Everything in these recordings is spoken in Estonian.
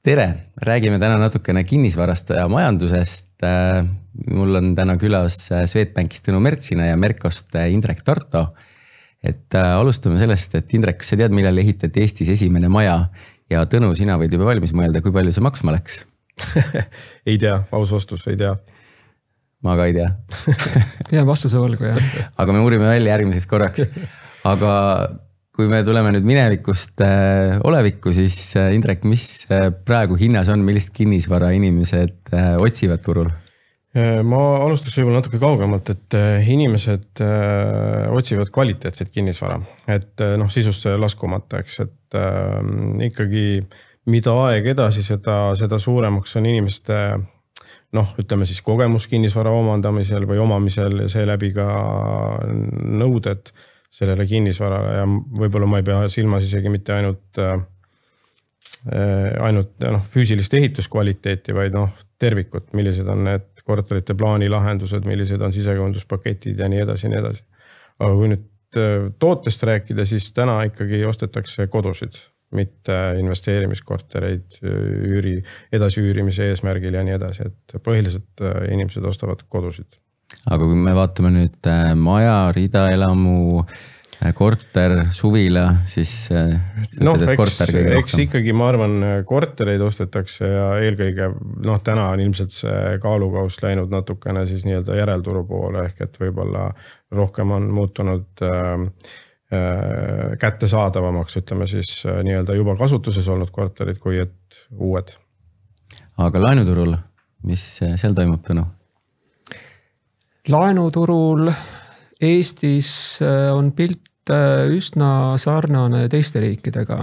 Tere, räägime täna natukene kinnisvarast ja majandusest. Mul on täna külas Swedbankist Tõnu Mertsina ja Merkost Indrek Tarto. Alustame sellest, et Indrek, kas sa tead, millal ehitati Eestis esimene maja ja Tõnu, sina võid juba valmis mõelda, kui palju see maksma läks? Ei tea, aus vastus, ei tea. Ma ka ei tea. Jään vastuse võlgu, jah. Aga me uurime välja järgmiseks korraks. Aga kui me tuleme nüüd minevikust olevikku, siis Indrek, mis praegu hinnas on, millist kinnisvara inimesed otsivad turul? Ma alustaks võib-olla natuke kaugemalt, et inimesed otsivad kvaliteetset kinnisvara, et sisusse laskumata, eks, et ikkagi mida aeg edasi, seda suuremaks on inimeste ütleme siis kogemus kinnisvara omandamisel või omamisel ja seeläbi ka nõuded sellele kinnisvarale ja võib-olla ma ei pea silmas isegi mitte ainult füüsilist ehituskvaliteeti, vaid tervikut, millised on need korterite plaanilahendused, millised on sisekujunduspaketid ja nii edasi, nii edasi. Aga kui nüüd tootest rääkida, siis täna ikkagi ostetakse kodusid, mitte investeerimiskortereid edasi üürimise eesmärgil ja nii edasi, et põhiliselt inimesed ostavad kodusid. Aga kui me vaatame nüüd maja, ridaelamu, korter, suvila, siis eks ikkagi ma arvan kortereid ostetakse ja eelkõige täna on ilmselt see kaalukaus läinud natukene siis nii-öelda järelturu poole ehk et võib-olla rohkem on muutunud kättesaadavamaks, ütleme siis nii-öelda juba kasutuses olnud korterid kui et uued. Aga laenuturul, mis seal toimub, Tõnu? Laenuturul Eestis on pilt üsna sarnane teiste riikidega.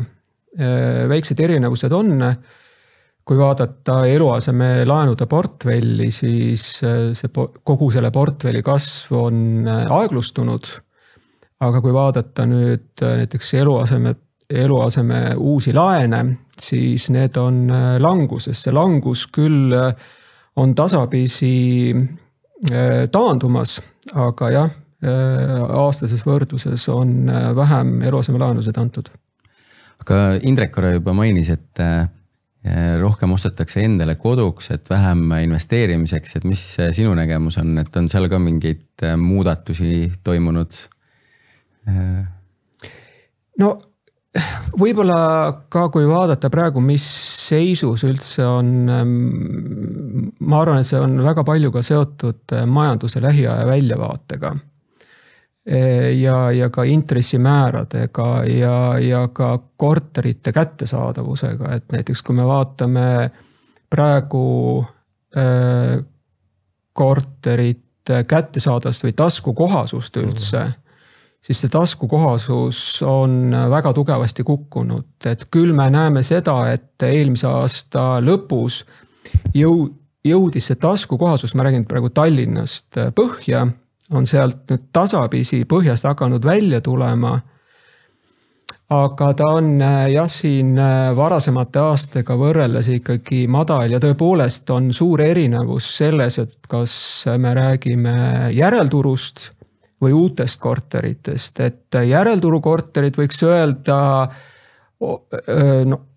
Väiksed erinevused on, kui vaadata eluaseme laenude portfelli, siis kogu selle portfelli kasv on aeglustunud. Aga kui vaadata nüüd näiteks eluaseme uusi laene, siis need on languses. See langus küll on tasapisi taandumas, aga jah, aastases võrdluses on vähem eluaseme laenusid antud. Aga Indrek korra juba mainis, et rohkem ostetakse endale koduks, et vähem investeerimiseks, et mis sinu nägemus on, et on seal ka mingeid muudatusi toimunud? Võib-olla ka kui vaadata praegu, mis seisus üldse on, ma arvan, et see on väga palju ka seotud majanduse lähiaja väljavaatega ja ka intressimääradega ja ka korterite kättesaadavusega, et näiteks kui me vaatame praegu korterite kättesaadavust või taskukohasust üldse, siis see taskukohasus on väga tugevasti kukkunud. Et küll me näeme seda, et eelmise aasta lõpus jõudis see taskukohasus, ma räägin praegu Tallinnast põhja, on sealt nüüd tasapisi põhjast hakanud välja tulema. Aga ta on siin varasemate aastaga võrreldes ikkagi madal ja tõepoolest on suur erinevus selles, et kas me räägime järelturust või uutest korteritest, et järelturu korterid võiks öelda,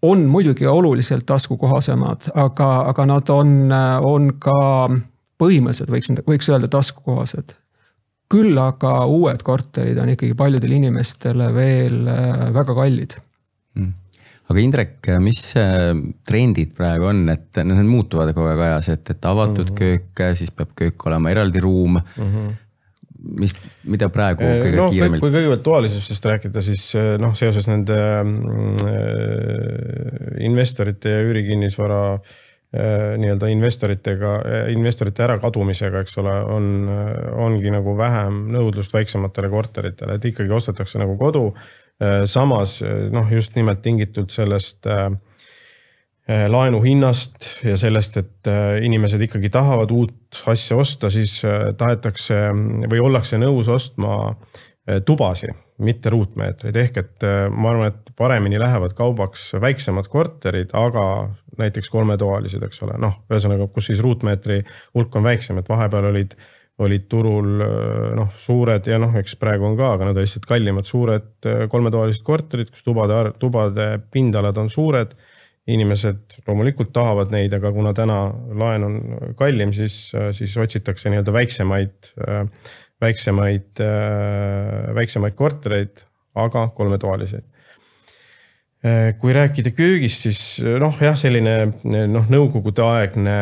on muidugi oluliselt taskukohasemad, aga nad on ka põhimõtteliselt, võiks öelda taskukohased. Küll aga uued korterid on ikkagi paljudel inimestele veel väga kallid. Aga Indrek, mis trendid praegu on, et need muutuvad kogu aeg ajas, et avatud köök, siis peab köök olema eraldi ruum, mida praegu kõige kiiremalt? Kui kõigepealt toalisustest rääkida, siis seoses nende investorite ja üürikinnisvara nii-öelda investorite ärakadumisega, eks ole, ongi nagu vähem nõudlust väiksematele korteritele, et ikkagi ostetakse nagu kodu. Samas just nimelt tingitud sellest laenu hinnast ja sellest, et inimesed ikkagi tahavad uut asja osta, siis tahetakse või ollakse nõus ostma tubasi, mitte ruutmeetreid. Ehk et ma arvan, et paremini lähevad kaubaks väiksemad korterid, aga näiteks 3-toalised, eks ole. Ühesõnaga, kus siis ruutmeetri hulk on väiksem, et vahepeal olid turul suured ja eks praegu on ka, aga nad on lihtsalt kallimad suured 3-toalised korterid, kus tubade pindalad on suured inimesed loomulikult tahavad neid, aga kuna täna laen on kallim, siis otsitakse nii-öelda väiksemaid kortereid, aga 3-toaliseid. Kui rääkida köögist, siis selline nõukogude aegne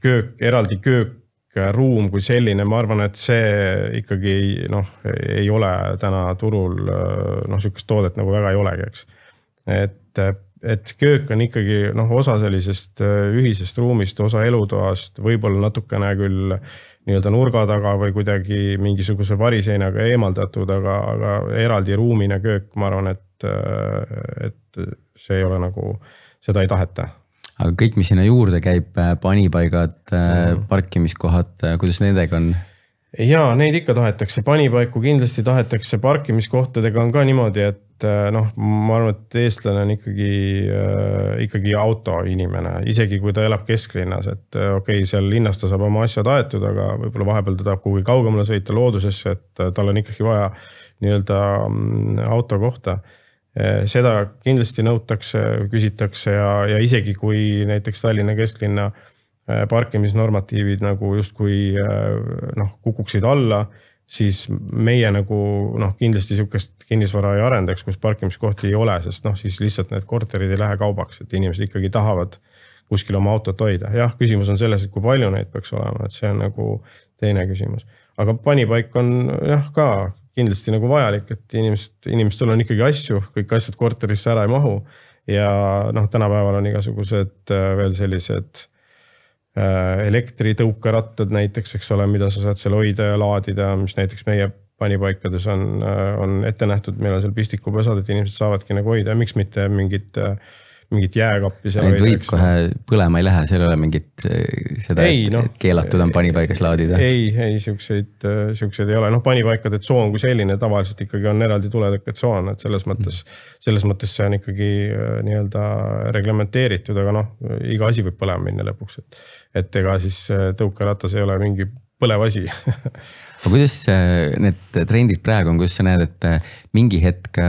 köök, eraldi köökruum kui selline, ma arvan, et see ikkagi ei ole täna turul, sükest toodet nagu väga ei olegi, eks. Et köök on ikkagi osa sellisest ühisest ruumist, osa elutoast, võib-olla natukene küll nii-öelda nurga taga või kuidagi mingisuguse variseinaga eemaldatud, aga eraldi ruumine köök, ma arvan, et see ei ole nagu, seda ei taheta. Aga kõik, mis sinna juurde käib, panipaigad, parkimiskohad, kuidas nendega on? Jaa, neid ikka tahetakse, panipaiku kindlasti tahetakse, parkimiskohtadega on ka niimoodi, et ma arvan, et eestlane on ikkagi autoinimene, isegi kui ta elab kesklinnas, et okei, seal linnas ta saab oma asjad aetud, aga võib-olla vahepeal ta tahab kuhugi kaugemale sõita loodusesse, et tal on ikkagi vaja nii-öelda auto kohta. Seda kindlasti nõutakse, küsitakse ja isegi kui näiteks Tallinna kesklinna parkimisnormatiivid nagu justkui kukuksid alla, siis meie nagu kindlasti sihukest kinnisvara ei arendaks, kus parkimiskohti ei ole, sest siis lihtsalt need korterid ei lähe kaubaks, et inimesed ikkagi tahavad kuskil oma autot hoida. Jah, küsimus on selles, et kui palju neid peaks olema, et see on nagu teine küsimus. Aga panipaik on ka kindlasti nagu vajalik, et inimestel on ikkagi asju, kõik asjad korterisse ära ei mahu ja tänapäeval on igasugused veel sellised elektritõukerattad näiteks, eks ole, mida sa saad seal hoida ja laadida, mis näiteks meie panipaikades on ette nähtud, meil on seal pistikupesad, et inimesed saavadki nagu hoida ja miks mitte mingit jääkappi seal hoida. Võib kohe põlema ei lähe, seal ei ole mingit seda, et keelatud on panipaigas laadida? Ei, siukseid ei ole. Panipaikade tsoon kui selline tavaliselt ikkagi on eraldi tuletõkke tsoon, et selles mõttes see on ikkagi nii-öelda reglementeeritud, aga iga asi võib põlema minna lõpuks, et ega siis tõukeratas ei ole mingi põlev asi. Aga kuidas need trendid praegu on, kuidas sa näed, et mingi hetk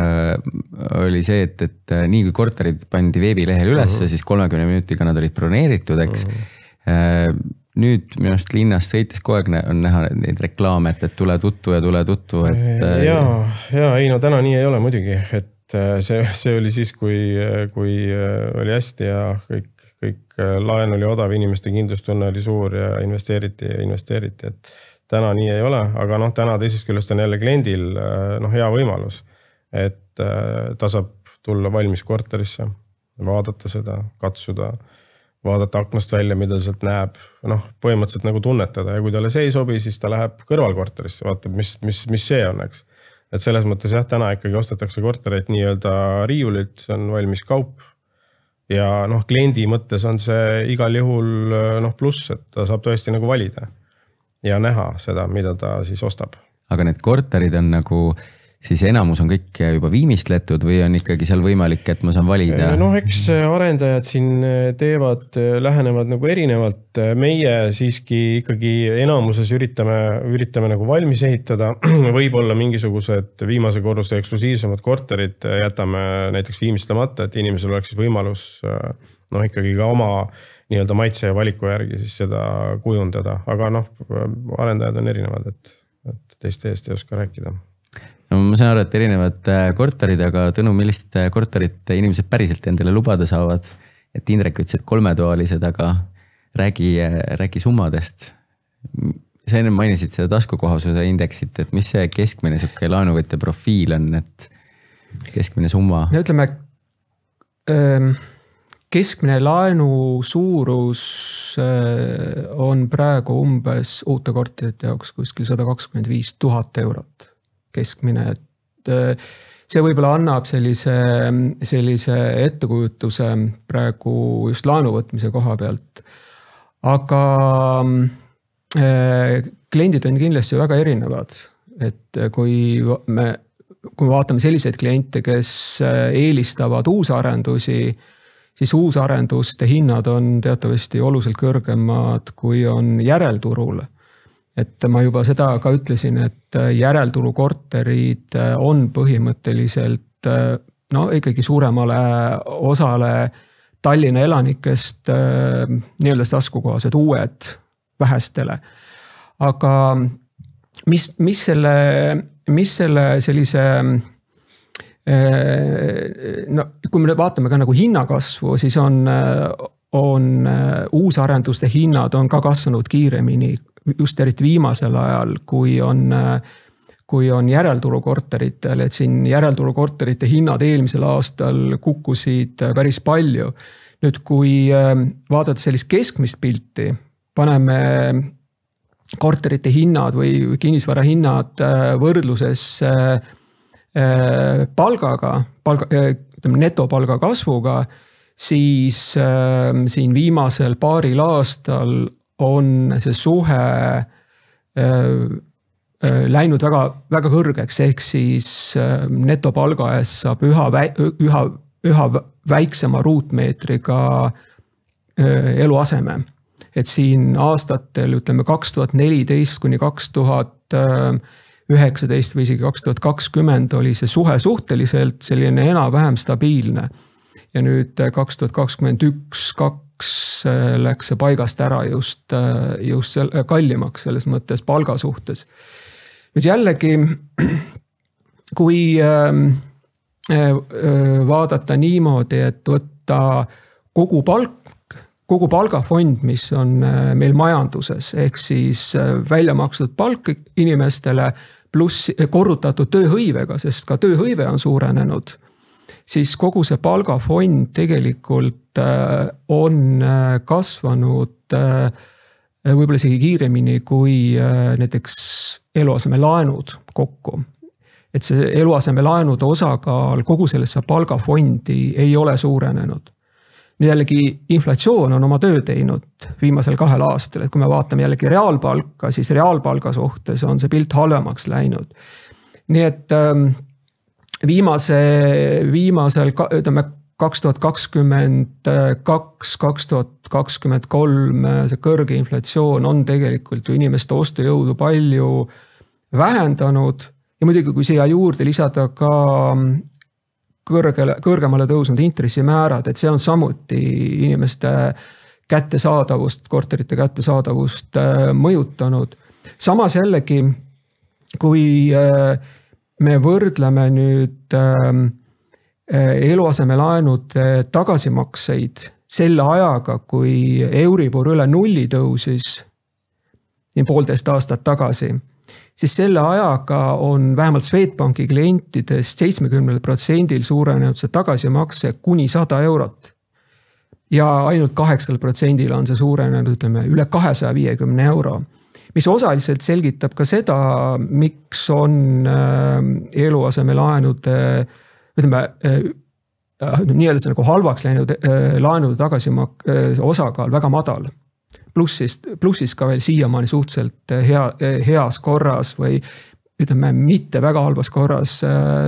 oli see, et nii kui korterid pandi veebilehel üles, siis 30 minutiga nad olid broneeritud, eks. Nüüd minu arust linnas sõites kogu aeg on näha neid reklaame, et tule tuttu ja tule tuttu. Täna nii ei ole muidugi, et see oli siis, kui oli hästi ja kõik laen oli odav, inimeste kindlustunne oli suur ja investeeriti, et täna nii ei ole, aga täna teisest küljest on jälle kliendil hea võimalus, et ta saab tulla valmis korterisse, vaadata seda, katsuda, vaadata aknast välja, mida sealt näeb, põhimõtteliselt nagu tunnetada ja kui talle see ei sobi, siis ta läheb kõrvalkorterisse, vaatab, mis see on, eks. Et selles mõttes täna ikkagi ostetakse kortereid nii-öelda riiulilt, see on valmis kaup. Ja kliendi mõttes on see igal juhul pluss, et ta saab tõesti nagu valida ja näha seda, mida ta siis ostab. Aga need korterid on nagu, siis enamus on kõik juba viimistletud või on ikkagi seal võimalik, et ma saan valida? Eks arendajad siin lähenevad nagu erinevalt. Meie siiski ikkagi enamuses üritame nagu valmis ehitada. Võib-olla mingisugused viimase korruse eksklusiivsemad korterid jätame näiteks viimistlemata, et inimesel oleks siis võimalus ikkagi ka oma nii-öelda maitse ja valiku järgi siis seda kujundada. Aga arendajad on erinevad, et teiste eest ei oska rääkida. Ma saan aru, et erinevad korterid, aga Tõnu, millist korterit inimesed päriselt endale lubada saavad? Et Indrek ütles, et 3-toalised, aga räägi summadest. Sa enne mainisid seda taskukohasuse indeksit, et mis see keskmine laenuvõtja profiil on, et keskmine summa? Ütleme, keskmine laenu suurus on praegu umbes uute korterite jaoks kuskil 125 000 eurot keskmine, et see võib-olla annab sellise ettekujutuse praegu just laenuvõtmise koha pealt. Aga kliendid on kindlasti väga erinevad, et kui me vaatame selliseid kliente, kes eelistavad uusarendusi, siis uusarenduste hinnad on teatavasti oluliselt kõrgemad, kui on järelturul. Et ma juba seda ka ütlesin, et järelturu korterid on põhimõtteliselt ikkagi suuremale osale Tallinna elanikest nii-öelda taskukohased uued vähestele. Aga mis selle sellise, no kui me vaatame ka nagu hinnakasvu, siis on uusarenduste hinnad on ka kasvanud kiiremini, just eriti viimasel ajal, kui on järelturukorteritel, et siin järelturukorterite hinnad eelmisel aastal kukkusid päris palju. Nüüd, kui vaadata sellist keskmist pilti, paneme korterite hinnad või kinnisvara hinnad võrdluses palgaga, netopalga kasvuga, siis siin viimasel paaril aastal on see suhe läinud väga, väga kõrgeks, ehk siis netopalga eest saab üha väiksema ruutmeetriga eluaseme. Et siin aastatel, ütleme 2014 kuni 2019 või isegi 2020 oli see suhe suhteliselt selline enam-vähem stabiilne. Ja nüüd 2021-2 läks see paigast ära just kallimaks selles mõttes palga suhtes. Nüüd jällegi, kui vaadata niimoodi, et võtta kogu palgafond, mis on meil majanduses, ehk siis välja makstud palk inimestele pluss korrutatud tööhõivega, sest ka tööhõive on suurenenud, siis kogu see palgafond tegelikult on kasvanud võib-olla isegi kiiremini kui näiteks eluasemelaenud kokku. Et see eluasemelaenude osakaal kogu sellesse palgafondi ei ole suurenenud. Jällegi inflatsioon on oma töö teinud viimasel 2 aastal, et kui me vaatame jällegi reaalpalka, siis reaalpalga suhtes on see pilt halvemaks läinud. Nii et viimasel, ütleme 2022-2023 see kõrge inflatsioon on tegelikult ju inimeste ostujõudu palju vähendanud ja muidugi kui siia juurde lisada ka kõrgemale tõusnud intressimäärad, et see on samuti inimeste kättesaadavust, korterite kättesaadavust mõjutanud. Samas jällegi, kui me võrdleme nüüd eluasemelaenude tagasimakseid selle ajaga, kui Euribor üle 0 tõusis 1,5 aastat tagasi, siis selle ajaga on vähemalt Swedbanki klientidest 70% suurenenud see tagasimakse kuni 100 eurot. Ja ainult 8% on see suurenenud, ütleme, üle 250 euro. Mis osaliselt selgitab ka seda, miks on eluasemelaenude, ütleme, nii-öelda nagu halvaks läinud laenude osakaal väga madal. Plussis ka veel siiamaani suhteliselt heas korras või ütleme mitte väga halvas korras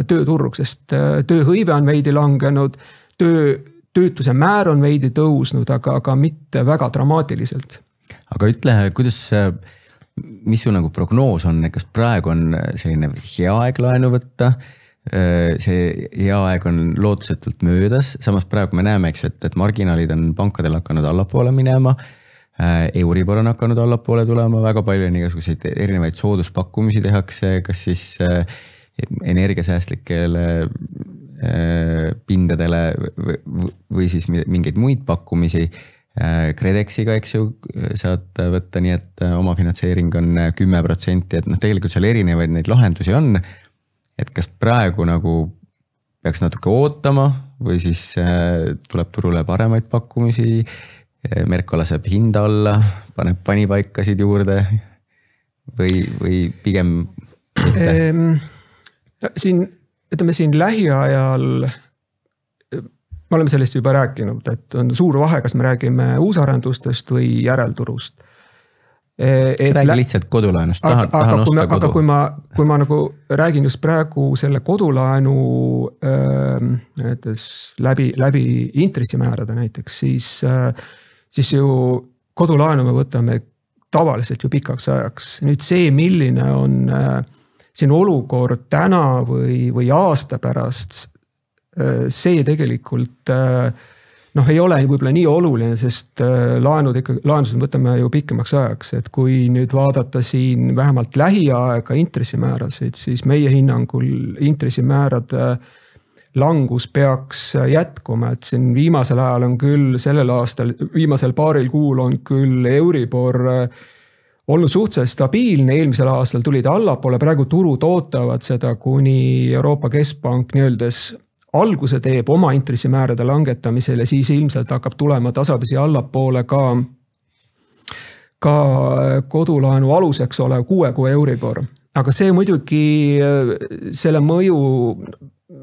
tööturg, sest tööhõive on veidi langenud, töötuse määr on veidi tõusnud, aga mitte väga dramaatiliselt. Aga ütle, mis su nagu prognoos on, kas praegu on selline hea aeg laenu võtta, see hea aeg on lootusetult möödas, samas praegu me näeme, et marginaalid on pankadel hakanud allapoole minema, Euribor on hakanud allapoole tulema, väga palju on igasuguseid erinevaid sooduspakkumisi tehakse, kas siis energiasäästlikele pindadele või siis mingeid muid pakkumisi. KredExiga, eks ju, saad võtta nii, et oma finantseering on 10%, et tegelikult seal erinevaid neid lahendusi on, et kas praegu nagu peaks natuke ootama või siis tuleb turule paremaid pakkumisi, Merko laseb hinda alla, paneb panipaikasid juurde või pigem mitte? Siin lähiajal, me oleme sellest juba rääkinud, et on suur vahe, kas me räägime uusarendustest või järelturust. Räägi lihtsalt kodulaenust, tahan osta kodu. Aga kui ma nagu räägin just praegu selle kodulaenu läbi intressimäärade näiteks, siis ju kodulaenu me võtame tavaliselt ju pikaks ajaks. Nüüd see, milline on siin olukord täna või aasta pärast, see tegelikult ei ole võib-olla nii oluline, sest laenused võtame ju pikemaks ajaks, et kui nüüd vaadata siin vähemalt lähiaega intressimäärasid, siis meie hinnangul intressimäärade langus peaks jätkuma, et siin viimasel ajal on küll sellel aastal, viimasel paaril kuul on küll Euribor olnud suhteliselt stabiilne, eelmisel aastal tuli ta allapoole, praegu turud ootavad seda, kuni Euroopa Keskpank nii-öeldes alguse teeb oma intressimäärade langetamisel ja siis ilmselt hakkab tulema tasapisi allapoole ka kodulaenu aluseks olev 6 kuu Euribor. Aga see muidugi, selle mõju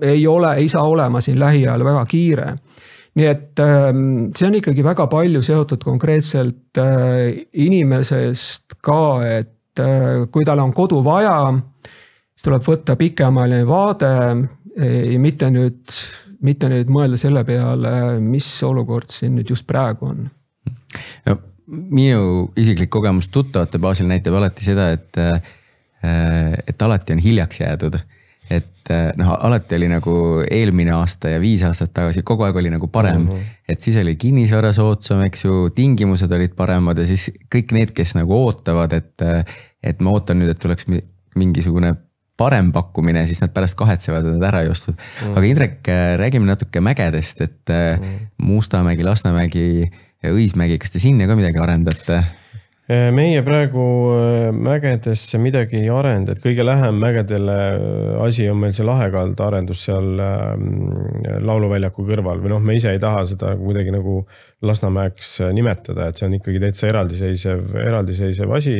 ei saa olema siin lähiajal väga kiire. Nii et see on ikkagi väga palju seotud konkreetselt inimesest ka, et kui tal on kodu vaja, siis tuleb võtta pikemaline vaade, mitte nüüd mõelda selle peale, mis olukord siin nüüd just praegu on. No, minu isiklik kogemus tuttavate baasil näitab alati seda, et alati on hiljaks jäädud. Et alati oli nagu eelmine aasta ja 5 aastat tagasi, kogu aeg oli nagu parem. Et siis oli kinnisvara soodsam, eks ju, tingimused olid paremad ja siis kõik need, kes nagu ootavad, et ma ootan nüüd, et tuleks mingisugune parem pakkumine, siis nad pärast kahetsevad, et nad ära ei ostud. Aga Indrek, räägime natuke mägedest, et Mustamägi, Lasnamägi ja Õismägi, kas te sinna ka midagi arendate? Meie praegu mägedesse midagi ei arenda, et kõige lähem mägedele asi on meil see Lahekald arendus seal lauluväljaku kõrval või me ise ei taha seda kuidagi nagu Lasnamäeks nimetada, et see on ikkagi täitsa eraldiseisev asi.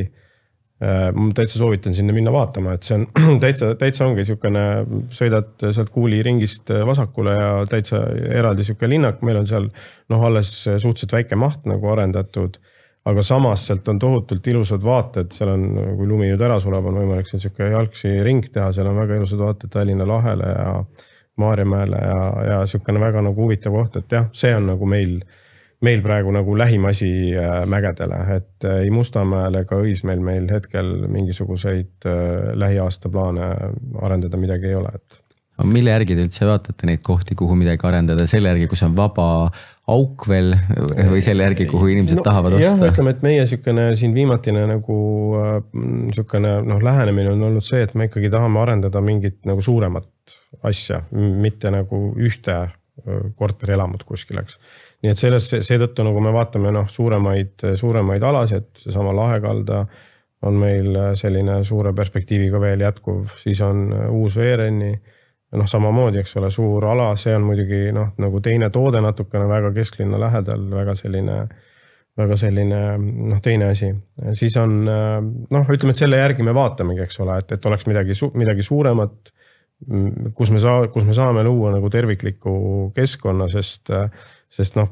Ma täitsa soovitan sinna minna vaatama, et see on täitsa ongi niisugune, sõidad sealt Kuuli ringist vasakule ja täitsa eraldi niisugune linnak, meil on seal alles suhteliselt väike maht nagu arendatud, aga samas sealt on tohutult ilusad vaated, seal on, kui lumi nüüd ära sulab, on võimalik seal niisugune jalgsi ring teha, seal on väga ilusad vaated Tallinna lahele ja Maarjamäele ja niisugune väga nagu huvitav koht, et jah, see on nagu meil praegu nagu lähim asi mägedele, et ei Mustamäel ega Õismäel meil hetkel mingisuguseid lähiaasta plaane arendada midagi ei ole. Mille järgi te üldse vaatate neid kohti, kuhu midagi arendada? Selle järgi, kus on vaba auk veel või selle järgi, kuhu inimesed tahavad osta? Jah, ütleme, et meie siin viimatine nagu lähenemine on olnud see, et me ikkagi tahame arendada mingit nagu suuremat asja, mitte nagu ühte korterelamut kuskileks. Nii et seetõttu, nagu me vaatame suuremaid alasid, seesama Lahekalda on meil selline suure perspektiiviga veel jätkuv, siis on uus Veereni, samamoodi, eks ole, suur ala, see on muidugi nagu teine toode natukene väga kesklinna lähedal, väga selline teine asi. Siis on, ütleme, et selle järgi me vaatamegi, eks ole, et oleks midagi suuremat, kus me saame luua nagu tervikliku keskkonna, sest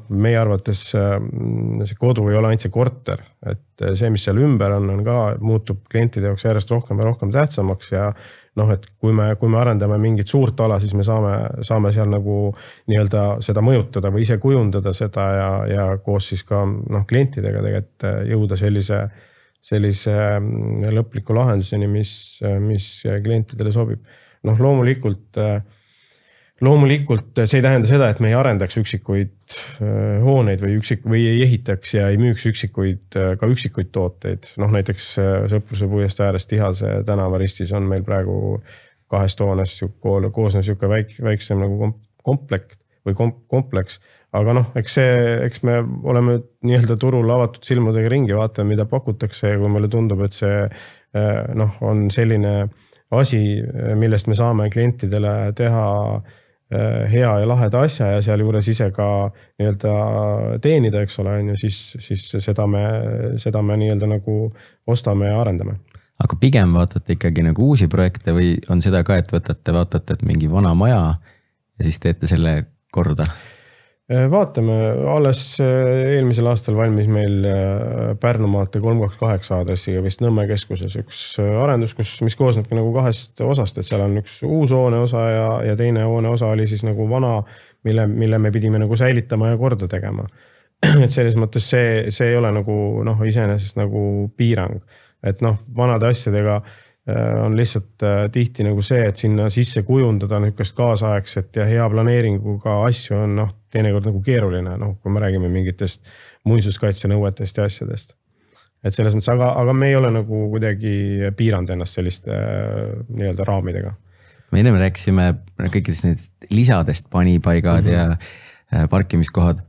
meie arvates see kodu ei ole ainult see korter, et see, mis seal ümber on ka, muutub klientide jaoks järjest rohkem ja rohkem tähtsamaks ja et kui me arendame mingit suurt ala, siis me saame seal nagu nii-öelda seda mõjutada või ise kujundada seda ja koos siis ka klientidega tegelikult jõuda sellise lõpliku lahenduseni, mis klientidele sobib. Loomulikult see ei tähenda seda, et me ei arendaks üksikuid hooneid või ei ehitaks ja ei müüks ka üksikuid tooteid. Näiteks Sõpruse puiest äärest Tihase tänavaristis on meil praegu 2 hoonest koosnev niisugune väiksem nagu kompleks. Aga eks me oleme nii-öelda turul avatud silmadega ringi, vaatame, mida pakutakse ja kui meile tundub, et see on selline asi, millest me saame klientidele teha hea ja laheda asja ja seal juures ise ka nii-öelda teenida, eks ole, siis seda me nii-öelda nagu ostame ja arendame. Aga pigem vaatate ikkagi nagu uusi projekte või on seda ka, et vaatate, et mingi vana maja ja siis teete selle korda? Vaatame, alles eelmisel aastal valmis meil Pärnumaate 328 aadressiga vist Nõmme keskuses üks arendus, mis koosnebki nagu 2 osast, et seal on üks uus hoone osa ja teine hoone osa oli siis nagu vana, mille me pidime nagu säilitama ja korda tegema. Et selles mõttes see ei ole nagu iseenesest nagu piirang, et vanade asjadega on lihtsalt tihti nagu see, et sinna sisse kujundada niisugust kaasaegset ja hea planeeringuga asju on teinekord nagu keeruline, kui me räägime mingitest muinsuskaitsenõuetest ja asjadest. Et selles mõttes, aga me ei ole nagu kuidagi piiranud ennast selliste nii-öelda raamidega. Me enne rääkisime kõikidest need lisadest, panipaigad ja parkimiskohad.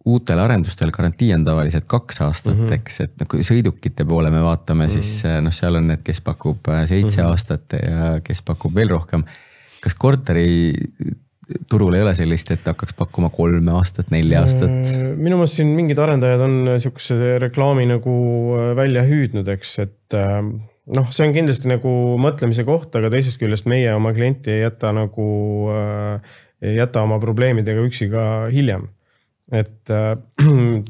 Uutel arendustel garantii on tavaliselt 2 aastat, eks, et kui sõidukite poole me vaatame, siis seal on need, kes pakub 7 aastat ja kes pakub veel rohkem. Kas korteri turul ei ole sellist, et hakkaks pakkuma 3 aastat, 4 aastat? Minu meelest siin mingid arendajad on niisuguse reklaami nagu välja hüüdnud, eks, et see on kindlasti nagu mõtlemise koht, aga teisest küljest meie oma klienti ei jäta oma probleemidega üksi ka hiljem. Et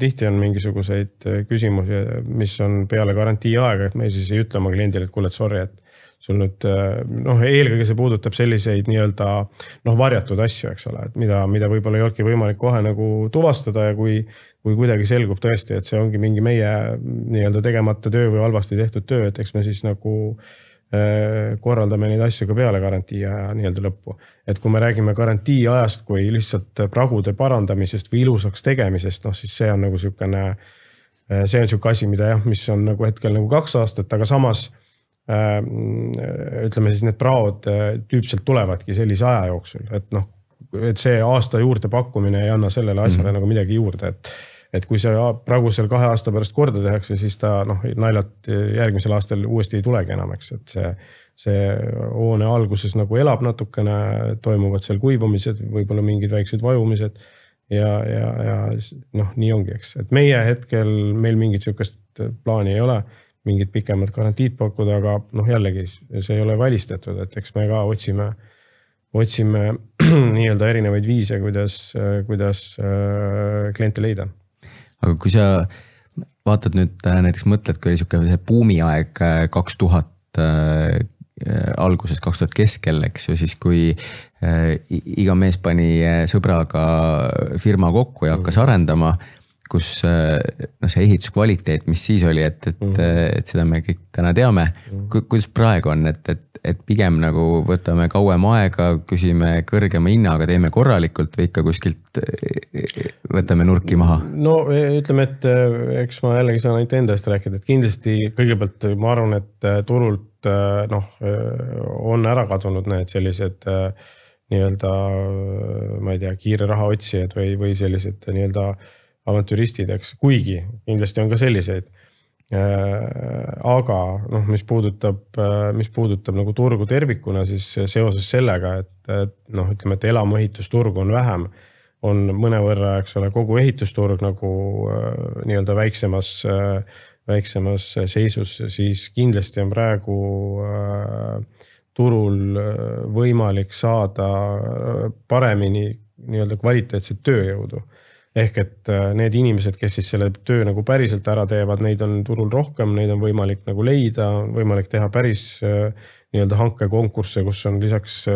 tihti on mingisuguseid küsimusi, mis on peale garantii aega, et me siis ei ütle oma kliendile, et kuule, sorry, et sul nüüd, eelkõige see puudutab selliseid nii-öelda varjatud asju, eks ole, et mida võib-olla ei olnudki võimalik kohe nagu tuvastada ja kui kuidagi selgub tõesti, et see ongi mingi meie nii-öelda tegemata töö või halvasti tehtud töö, et eks me siis nagu korraldame neid asju ka peale garantii aja nii-öelda lõppu. Et kui me räägime garantii ajast kui lihtsalt pragude parandamisest või ilusaks tegemisest, siis see on nagu siukene asi, mis on nagu hetkel nagu 2 aastat, aga samas ütleme siis need praod tüüpselt tulevadki sellise aja jooksul, et see aasta juurde pakkumine ei anna sellele asjale nagu midagi juurde, et kui see praegusel 2 aasta pärast korda tehakse, siis ta naljalt järgmisel aastal uuesti ei tulegi enam, eks, et see hoone alguses nagu elab natukene, toimuvad seal kuivumised, võib-olla mingid väiksed vajumised ja nii ongi, eks. Et meie hetkel meil mingit siukest plaani ei ole, mingid pikemad garantiid pakkuda, aga jällegi see ei ole välistatud, et eks me ka otsime nii-öelda erinevaid viise, kuidas kliente leida. Aga kui sa vaatad nüüd näiteks mõtled, kui oli see buumiaeg 2000 alguses, 2000 keskel, eks ju, siis kui iga mees pani sõbraga firma kokku ja hakkas arendama, kus see ehituskvaliteet, mis siis oli, et seda me kõik täna teame. Kuidas praegu on, et pigem nagu võtame kauem aega, küsime kõrgema hinnaga, teeme korralikult või ikka kuskilt võtame nurki maha? No ütleme, et eks ma jällegi saan ainult endast rääkida, et kindlasti kõigepealt ma arvan, et turult on ära kadunud need sellised nii-öelda, ma ei tea, kiire raha otsijad või sellised nii-öelda avantüristid, eks, kuigi kindlasti on ka selliseid. Aga mis puudutab nagu turgu tervikuna, siis seoses sellega, et ütleme, et elamuehitusturg on vähem, on mõnevõrra, eks ole, kogu ehitusturg nagu nii-öelda väiksemas seisus, siis kindlasti on praegu turul võimalik saada paremini nii-öelda kvaliteetset tööjõudu. Ehk et need inimesed, kes siis selle töö nagu päriselt ära teevad, neid on turul rohkem, neid on võimalik nagu leida, on võimalik teha päris nii-öelda hankekonkursse, kus on lisaks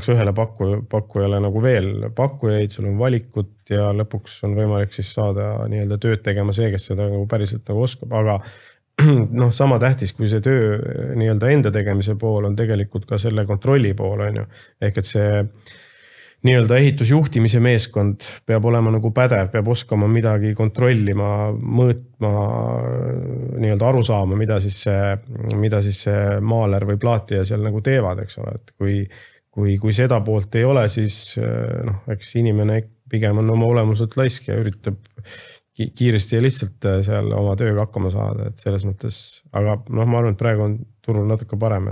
ühele pakkujale nagu veel pakkujaid, sul on valikut ja lõpuks on võimalik siis saada nii-öelda tööd tegema see, kes seda nagu päriselt nagu oskab, aga sama tähtis, kui see töö nii-öelda enda tegemise pool on tegelikult ka selle kontrolli pool, on ju. Ehk et see nii-öelda ehitusjuhtimise meeskond peab olema nagu pädev, peab oskama midagi kontrollima, mõõtma, nii-öelda aru saama, mida siis see maaler või plaatija seal nagu teevad, eks ole. Et kui seda poolt ei ole, siis eks inimene pigem on oma olemuselt laisk ja üritab kiiresti ja lihtsalt seal oma tööga hakkama saada, et selles mõttes, aga ma arvan, et praegu on turul natuke parem,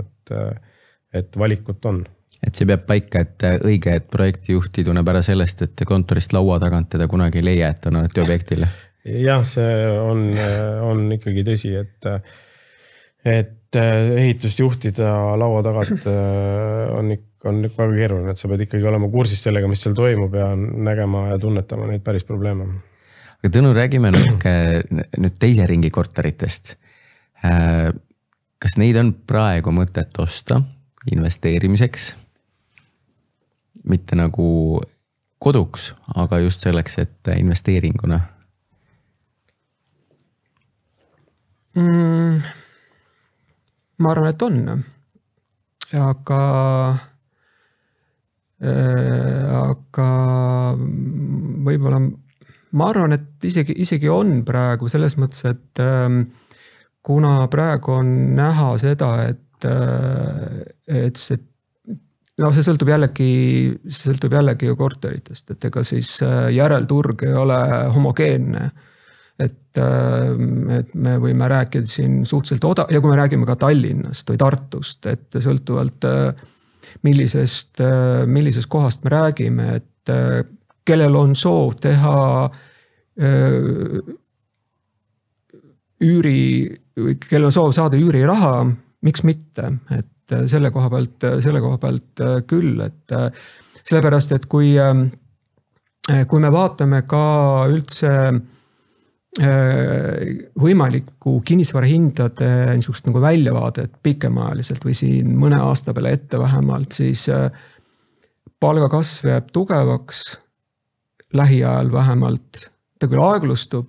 et valikut on. Et see peab paika, et õige, et projektijuhti tunneb ära sellest, et kontorist laua tagant teda kunagi ei leia, et on alati objektile. Jah, see on ikkagi tõsi, et ehitust juhtida laua tagant on väga keeruline, et sa pead ikkagi olema kursis sellega, mis seal toimub ja nägema ja tunnetama neid päris probleeme. Aga Tõnu, räägime nüüd teise ringi korteritest. Kas neid on praegu mõtet osta investeerimiseks? Mitte nagu koduks, aga just selleks, et investeeringuna? ma arvan, et on. Aga võib-olla ma arvan, et isegi on praegu selles mõttes, et kuna praegu on näha seda, et see sõltub jällegi ju korteritest, et ega siis järelturg ei ole homogeenne. Et me võime rääkida siin suhteliselt ja kui me räägime ka Tallinnast või Tartust, et sõltuvalt millisest kohast me räägime, et kellel on soov teha kellel on soov saada üüriraha, miks mitte, et selle koha pealt küll, et sellepärast, et kui me vaatame ka üldse võimalikku kinnisvarahindade niisugust nagu väljavaadet pikemaajaliselt või siin mõne aasta peale ette vähemalt, siis palgakasv jääb tugevaks lähiajal vähemalt, ta küll aeglustub,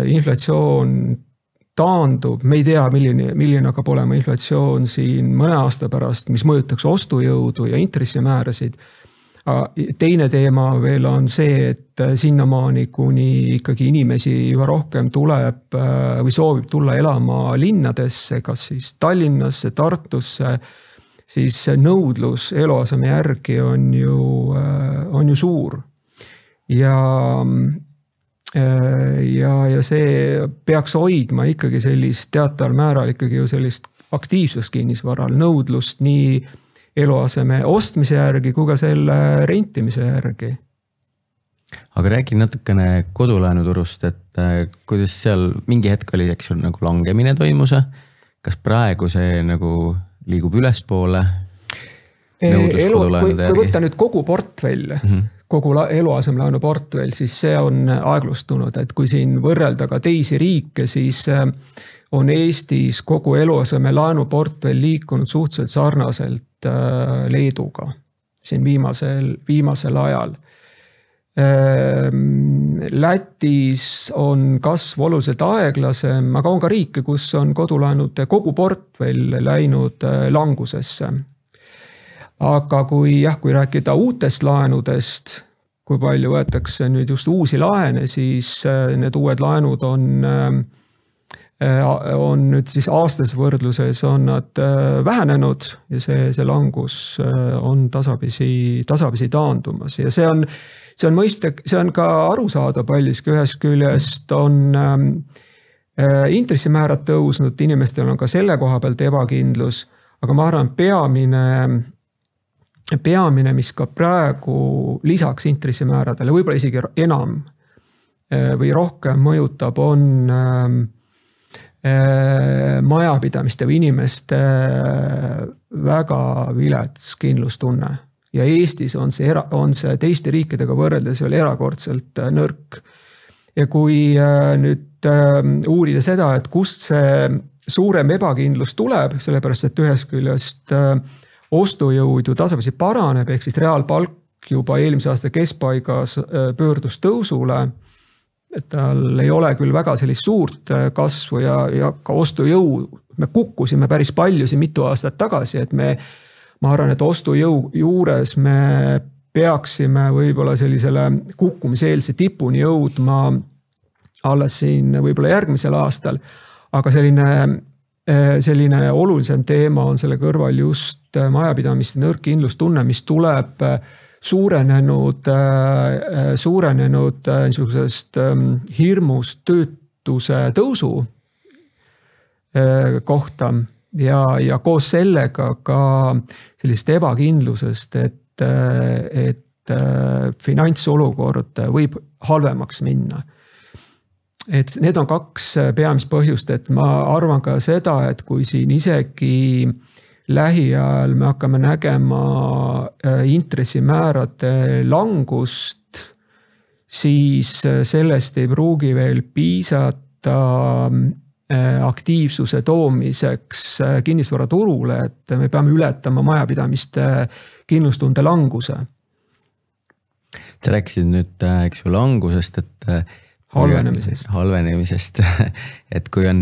inflatsioon taandub, me ei tea, milline hakkab olema inflatsioon siin mõne aasta pärast, mis mõjutaks ostujõudu ja intressimäärasid. Teine teema veel on see, et sinnamaani, kuni ikkagi inimesi juba rohkem tuleb või soovib tulla elama linnadesse, kas siis Tallinnasse, Tartusse, siis nõudlus eluaseme järgi on ju suur. Ja see peaks hoidma ikkagi sellist teataval määral ikkagi ju sellist aktiivsust kinnisvaral, nõudlust nii eluaseme ostmise järgi kui ka selle rentimise järgi. Aga räägi natukene kodulaenuturust, et kuidas seal mingi hetk oli, eks ju, nagu langemine toimus, kas praegu see nagu liigub ülespoole? Kui võtta nüüd kogu portfell, kogu eluasemelaenu portfell, siis see on aeglustunud, et kui siin võrrelda ka teisi riike, siis on Eestis kogu eluaseme laenuportfell liikunud suhteliselt sarnaselt Leeduga siin viimasel ajal. Lätis on kasv oluliselt aeglasem, aga on ka riike, kus on kodulaenude kogu portfell läinud langusesse. Aga kui rääkida uutest laenudest, kui palju võetakse nüüd just uusi laene, siis need uued laenud on nüüd siis aastas võrdluses on nad vähenenud ja see langus on tasapisi taandumas ja see on mõistek, see on ka aru saada paljuski, ühest küljest on intressimäärad tõusnud, inimestel on ka selle koha pealt ebakindlus, aga ma arvan, peamine, mis ka praegu lisaks intressimääradele, võib-olla isegi enam või rohkem mõjutab, on majapidamiste või inimeste väga vilets kindlustunne. Ja Eestis on see teiste riikidega võrreldes veel erakordselt nõrk. Ja kui nüüd uurida seda, et kust see suurem ebakindlus tuleb, sellepärast, et ühest küljest ostujõud ju tasapisi paraneb, ehk siis reaalpalk juba eelmise aasta keskpaigas pöördus tõusule, et tal ei ole küll väga sellist suurt kasvu ja ka ostujõu, me kukkusime päris palju siin mitu aastat tagasi, et ma arvan, et ostujõu juures me peaksime võib-olla sellisele kukkumiseelse tipuni jõudma alles siin võib-olla järgmisel aastal, aga selline olulisem teema on selle kõrval just majapidamiste nõrk kindlustunne, mis tuleb suurenenud niisugusest hirmust töötuse tõusu kohta ja koos sellega ka sellisest ebakindlusest, et finantsolukord võib halvemaks minna. Et need on kaks peamist põhjust, et ma arvan ka seda, et kui siin isegi lähiajal me hakkame nägema intressimäärade langust, siis sellest ei pruugi veel piisata aktiivsuse toomiseks kinnisvaraturule, et me peame ületama majapidamiste kindlustunde languse. Sa rääkisid nüüd, eks ju, langusest, et halvenemisest, et kui on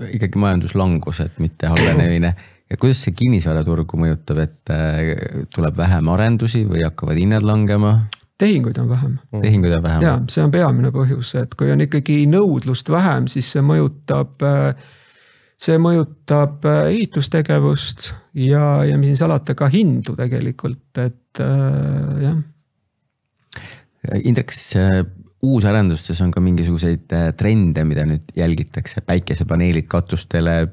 ikkagi majanduslangus, et mitte halvenemine ja kuidas see kinnisvaraturgu mõjutab, et tuleb vähem arendusi või hakkavad hinnad langema? Tehinguid on vähem. Ja see on peamine põhjus, et kui on ikkagi nõudlust vähem, siis see mõjutab ehitustegevust ja mis salata ka hindu tegelikult, et jah. Indrek, uusarendustes on ka mingisuguseid trende, mida nüüd jälgitakse, päikesepaneelid katustele,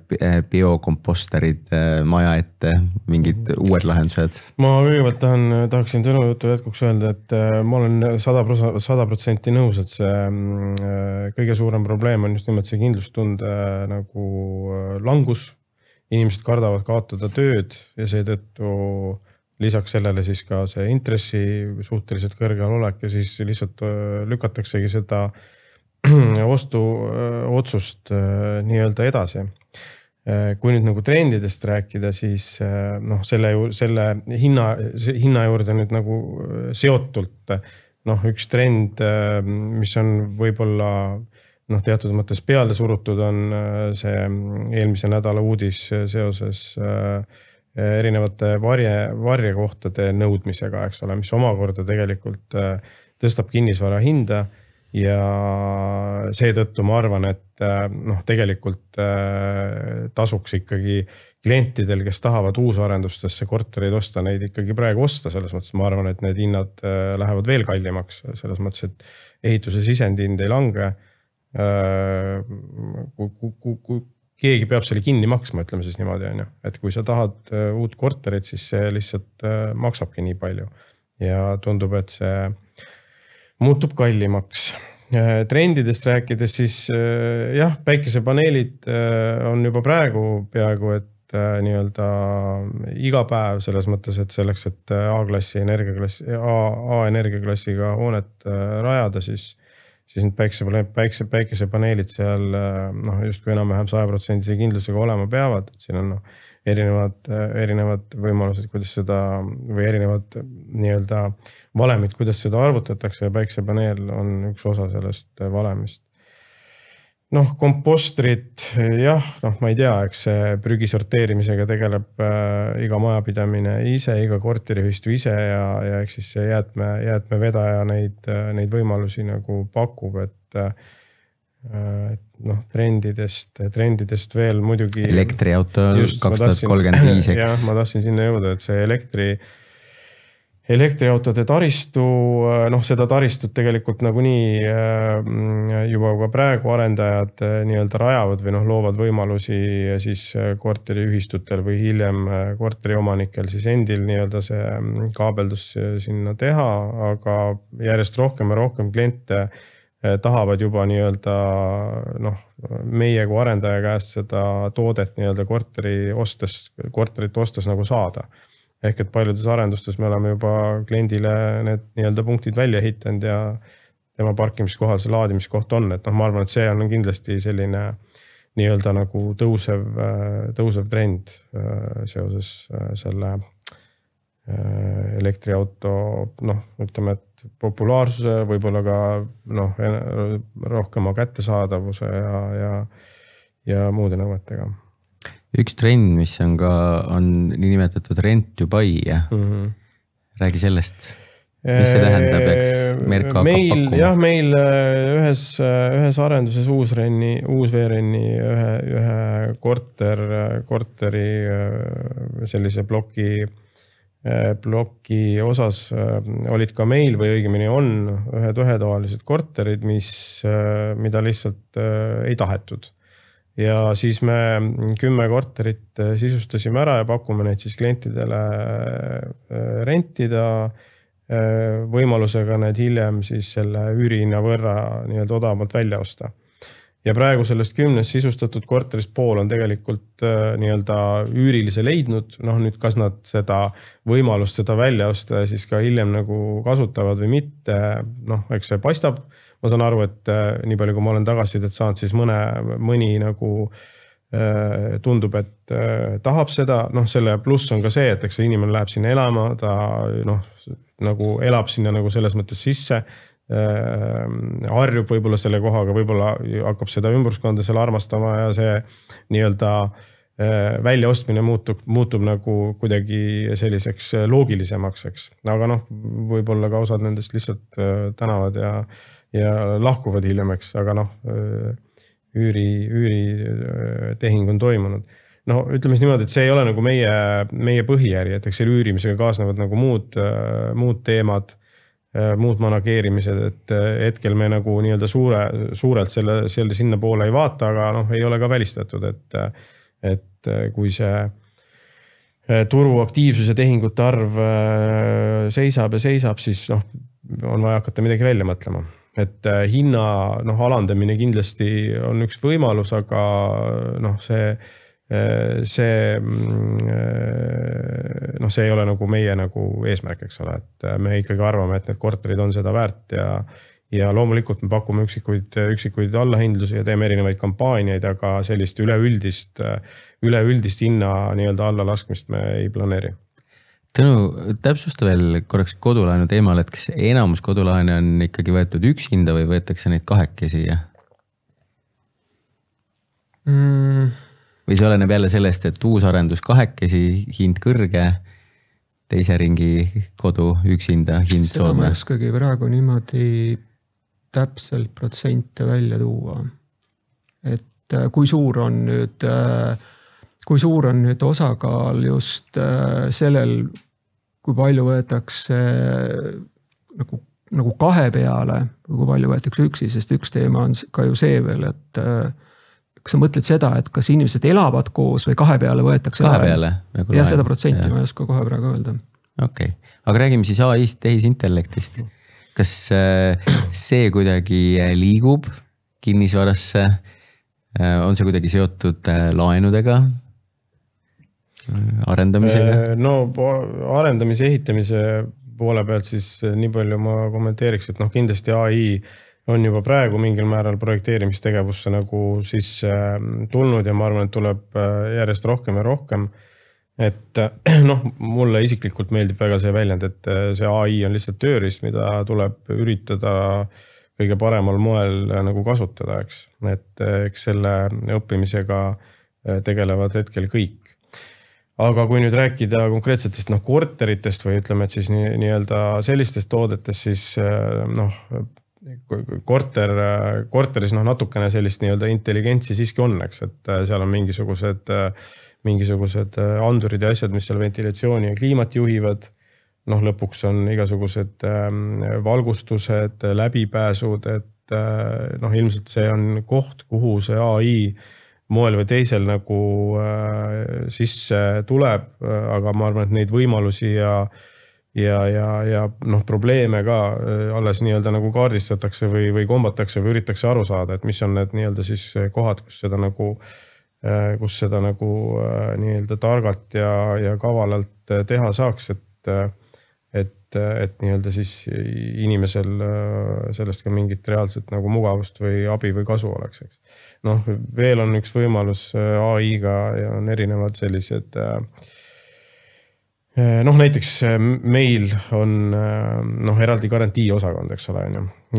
biokomposterid maja ette, mingid uued lahendused? Ma kõigepealt tahaksin Tõnu jutu jätkuks öelda, et ma olen 100% nõus, et see kõige suurem probleem on just nimelt see kindlustunde nagu langus. Inimesed kardavad kaotada tööd ja seetõttu lisaks sellele siis ka see intressi suhteliselt kõrgel olek ja siis lihtsalt lükataksegi seda ostuotsust nii-öelda edasi. Kui nüüd nagu trendidest rääkida, siis selle hinna juurde nüüd nagu seotult üks trend, mis on võib-olla teatud mõttes peale surutud, on see eelmise nädala uudis seoses erinevate varjekohtade nõudmisega, eks ole, mis omakorda tegelikult tõstab kinnisvara hinda ja seetõttu ma arvan, et tegelikult tasuks ikkagi klientidel, kes tahavad uusarendustesse kortereid osta, neid ikkagi praegu osta, selles mõttes ma arvan, et need hinnad lähevad veel kallimaks, selles mõttes, et ehituse sisendihind ei lange. Kui keegi peab selle kinni maksma, ütleme siis niimoodi, et kui sa tahad uut korterit, siis see lihtsalt maksabki nii palju ja tundub, et see muutub kallimaks. Trendidest rääkides, siis jah, päikesepaneelid on juba praegu peaaegu, et nii-öelda iga päev selles mõttes, et selleks, et A-klassi energiaklassiga hoonet rajada, siis need päikesepaneelid seal justkui enam-vähem 100% kindlusega olema peavad. Siin on erinevad võimalused, kuidas seda või erinevad nii-öelda valemid, kuidas seda arvutatakse ja päikesepaneel on üks osa sellest valemist. Kompostrid, jah, ma ei tea, eks see prügi sorteerimisega tegeleb iga majapidamine ise, iga korteriühistu ise ja eks siis see jäätmevedaja neid võimalusi nagu pakub, et trendidest veel muidugi. Elektriauto 2035. Jah, ma tahtsin sinna jõuda, et see elektriautode taristu, seda taristut tegelikult nagunii juba ka praegu arendajad nii-öelda rajavad või loovad võimalusi siis korteriühistutel või hiljem korteriomanikel siis endil nii-öelda see kaabeldus sinna teha, aga järjest rohkem ja rohkem kliente tahavad juba nii-öelda meie kui arendaja käest seda toodet nii-öelda korterit ostes nagu saada. Ehk et paljudes arendustes me oleme juba kliendile need nii-öelda punktid välja ehitanud ja tema parkimiskohal see laadimiskoht on. Et ma arvan, et see on kindlasti selline nii-öelda nagu tõusev trend seoses selle elektriauto, ütleme, et populaarsuse, võib-olla ka rohkema kättesaadavuse ja muude nõuetega. Üks trend, mis on niinimetatud rent to buy. Räägi sellest, mis see tähendab, eks Merko hakkab pakkuma? Jah, meil ühes arenduses uusveerenni ühe korteri sellise ploki osas olid ka meil või õigemini on ühetoalised korterid, mida lihtsalt ei tahetud. Ja siis me 10 korterit sisustasime ära ja pakume neid siis klientidele rentida võimalusega need hiljem siis selle üürihinna võrra nii-öelda odavamalt välja osta. Ja praegu sellest 10 sisustatud korterist pool on tegelikult nii-öelda üürilise leidnud. Nüüd kas nad seda võimalust seda välja osta ja siis ka hiljem nagu kasutavad või mitte, eks see paistab. Ma saan aru, et nii palju, kui ma olen tagasisidet saanud, siis mõni nagu tundub, et tahab seda. Selle pluss on ka see, et eks inimene läheb sinna elama, ta nagu elab sinna nagu selles mõttes sisse. harjub võib-olla selle kohaga, võib-olla hakkab seda ümbruskonda seal armastama ja see nii-öelda väljaostmine muutub nagu kuidagi selliseks loogilisemaks, eks. Aga noh, võib-olla ka osad nendest lihtsalt tänavad ja lahkuvad hiljem, eks, aga noh, üüritehing on toimunud. No ütleme siis niimoodi, et see ei ole nagu meie põhiäri, et eks selle üürimisega kaasnevad nagu muud teemad, muud manageerimised, et hetkel me nagu nii-öelda suurelt selle sinna poole ei vaata, aga noh, ei ole ka välistatud, et kui see turuaktiivsuse tehingute arv seisab, siis noh, on vaja hakata midagi välja mõtlema. Et hinna alandamine kindlasti on üks võimalus, aga noh, see ei ole nagu meie nagu eesmärk, eks ole, et me ikkagi arvame, et need korterid on seda väärt ja loomulikult me pakume üksikuid allahindlusi ja teeme erinevaid kampaaniaid, aga sellist üleüldist hinna nii-öelda alla laskmist me ei planeeri. Tõnu, täpsusta veel korraks kodulaenu teemal, et kas enamus kodulaene on ikkagi võetud üksinda või võetakse neid kahekesi? Või see oleneb jälle sellest, et uusarendus kahekesi, hind kõrge, teise ringi kodu üksinda, hind soodne? Seda ma oskagi praegu niimoodi täpselt protsente välja tuua. Et kui suur on nüüd osakaal just sellel, kui palju võetakse nagu kahe peale, kui palju võetakse üksi, sest üks teema on ka ju see veel, et kas sa mõtled seda, et kas inimesed elavad koos või kahe peale võetakse? Kahe peale? Ja seda protsenti ma ei oska kohe praegu öelda. Okei. Aga räägime siis AI-st, tehisintellektist. Kas see kuidagi liigub kinnisvarasse? On see kuidagi seotud laenudega? Arendamisega? No arendamise, ehitamise poole pealt siis nii palju ma kommenteeriks, et noh, kindlasti AI on juba praegu mingil määral projekteerimistegevusse nagu siis tulnud ja ma arvan, et tuleb järjest rohkem ja rohkem. Et noh, mulle isiklikult meeldib väga see väljend, et see AI on lihtsalt tööriist, mida tuleb üritada kõige paremal moel nagu kasutada, eks. Et eks selle õppimisega tegelevad hetkel kõik. Aga kui nüüd rääkida konkreetsetest korteritest või ütleme, et siis nii-öelda sellistest toodetest, siis noh, korteris natukene sellist nii-öelda intelligentsi siiski on, eks, et seal on mingisugused andurid ja asjad, mis seal ventilatsiooni ja kliimat juhivad. Noh, lõpuks on igasugused valgustused, läbipääsud, et noh, ilmselt see on koht, kuhu see AI moel või teisel nagu sisse tuleb, aga ma arvan, et neid võimalusi ja noh, probleeme ka alles nii-öelda nagu kaardistatakse või kombatakse või üritatakse aru saada, et mis on need nii-öelda siis kohad, kus seda nagu nii-öelda targalt ja kavalalt teha saaks, et nii-öelda siis inimesel sellest ka mingit reaalset nagu mugavust või abi või kasu oleks, eks. Noh, veel on üks võimalus AI-ga ja on erinevad sellised noh, näiteks meil on eraldi garantii osakond, eks ole,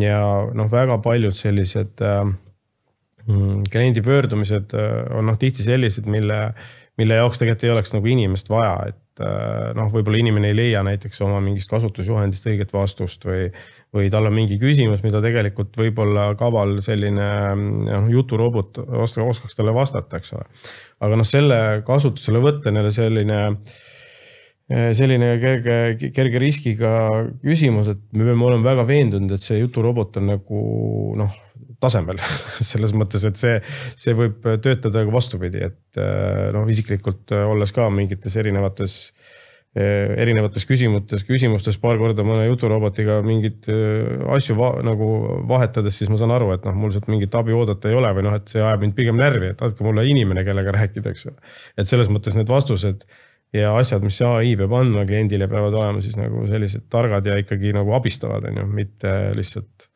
ja noh, väga paljud sellised kliendi pöördumised on tihti sellised, mille jaoks tegelikult ei oleks nagu inimest vaja, et noh, võib-olla inimene ei leia näiteks oma mingist kasutusjuhendist õiget vastust või tal on mingi küsimus, mida tegelikult võib-olla kaval selline juturobot oskaks talle vastata, eks ole. Aga noh, selle kasutusele võtta neile selline kerge riskiga küsimus, et me peame olema väga veendunud, et see juturobot on nagu noh, tasemel selles mõttes, et see võib töötada ka vastupidi, et noh, isiklikult olles ka mingites erinevates küsimustes paar korda mõne juturobotiga mingit asju nagu vahetades, siis ma saan aru, et noh, mul sealt mingit abi oodata ei ole või noh, et see ajab mind pigem närvi, et andke mulle inimene, kellega rääkida, eks. Et selles mõttes need vastused ja asjad, mis AI peab andma kliendile, peavad olema siis nagu sellised targad ja ikkagi nagu abistavad, mitte lihtsalt